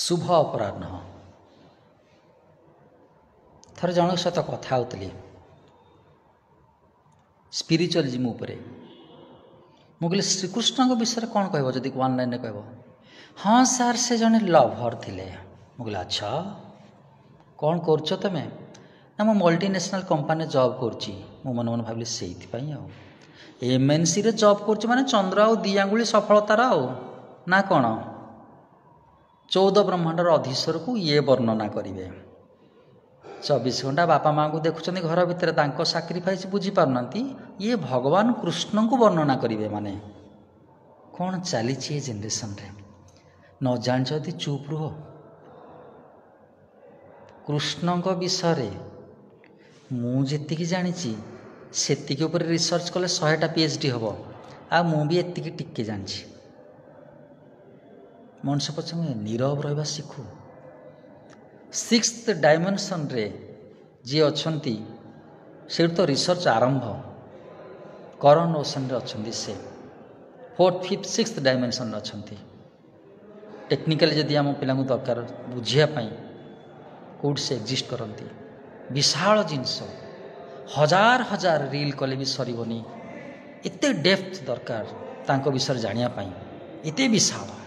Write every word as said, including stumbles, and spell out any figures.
ଶୁଭ ଅପରାହ୍ନ। ଥରେ ଜଣଙ୍କ ସହିତ କଥା ହେଉଥିଲି ସ୍ପିରିଚୁଆଲିଜିମ୍ ଉପରେ। ମୁଁ କହିଲି, ଶ୍ରୀକୃଷ୍ଣଙ୍କ ବିଷୟରେ କ'ଣ କହିବ ଯଦି ୱାନ୍ ଲାଇନ୍ରେ କହିବ? ହଁ ସାର୍, ସେ ଜଣେ ଲଭର୍ ଥିଲେ। ମୁଁ କହିଲି, ଆଚ୍ଛା, କ'ଣ କରୁଛ ତୁମେ? ନା, ମୁଁ ମଲ୍ଟିନ୍ୟାସନାଲ୍ କମ୍ପାନୀରେ ଜବ୍ କରୁଛି। ମୁଁ ମନେ ମନେ ଭାବିଲି, ସେଇଥିପାଇଁ ଆଉ ଏମ୍ଏନ୍ସିରେ ଜବ୍ କରୁଛି ମାନେ ଚନ୍ଦ୍ର ଆଉ ଦୁଇ ଆଙ୍ଗୁଳି ସଫଳତାର ଆଉ ନା କ'ଣ? ଚଉଦ ବ୍ରହ୍ମାଣ୍ଡର ଅଧୀଶ୍ୱରକୁ ଇଏ ବର୍ଣ୍ଣନା କରିବେ। ଚବିଶ ଘଣ୍ଟା ବାପା ମାଆଙ୍କୁ ଦେଖୁଛନ୍ତି ଘର ଭିତରେ, ତାଙ୍କ ସାକ୍ରିଫାଇସ୍ ବୁଝିପାରୁନାହାନ୍ତି, ଇଏ ଭଗବାନ କୃଷ୍ଣଙ୍କୁ ବର୍ଣ୍ଣନା କରିବେ। ମାନେ କ'ଣ ଚାଲିଛି ଏ ଜେନେରେସନରେ? ନ ଜାଣିଛ ଯଦି ଚୁପ୍ ରୁହ। କୃଷ୍ଣଙ୍କ ବିଷୟରେ ମୁଁ ଯେତିକି ଜାଣିଛି, ସେତିକି ଉପରେ ରିସର୍ଚ୍ଚ କଲେ ଶହେଟା ପି ଏଚ୍ ଡି ହେବ। ଆଉ ମୁଁ ବି ଏତିକି ଟିକେ ଜାଣିଛି। ମଣିଷ ପଛେ ନୀରବ ରହିବା ଶିଖୁ। ସିକ୍ସଥ ଡାଇମେନସନ୍ରେ ଯିଏ ଅଛନ୍ତି, ସେଇଠୁ ତ ରିସର୍ଚ୍ଚ ଆରମ୍ଭ। କରନ୍ ଓସନରେ ଅଛନ୍ତି ସେ, ଫୋର୍ଥ, ଫିଫ୍ଥ, ସିକ୍ସଥ ଡାଇମେନସନ୍ରେ ଅଛନ୍ତି। ଟେକ୍ନିକାଲି ଯଦି ଆମ ପିଲାଙ୍କୁ ଦରକାର ବୁଝିବା ପାଇଁ କେଉଁଠି ସେ ଏକ୍ଜିଷ୍ଟ କରନ୍ତି, ବିଶାଳ ଜିନିଷ, ହଜାର ହଜାର ରିଲ୍ କଲେ ବି ସରିବନି। ଏତେ ଡେପ୍ଥ ଦରକାର ତାଙ୍କ ବିଷୟରେ ଜାଣିବା ପାଇଁ, ଏତେ ବିଶାଳ।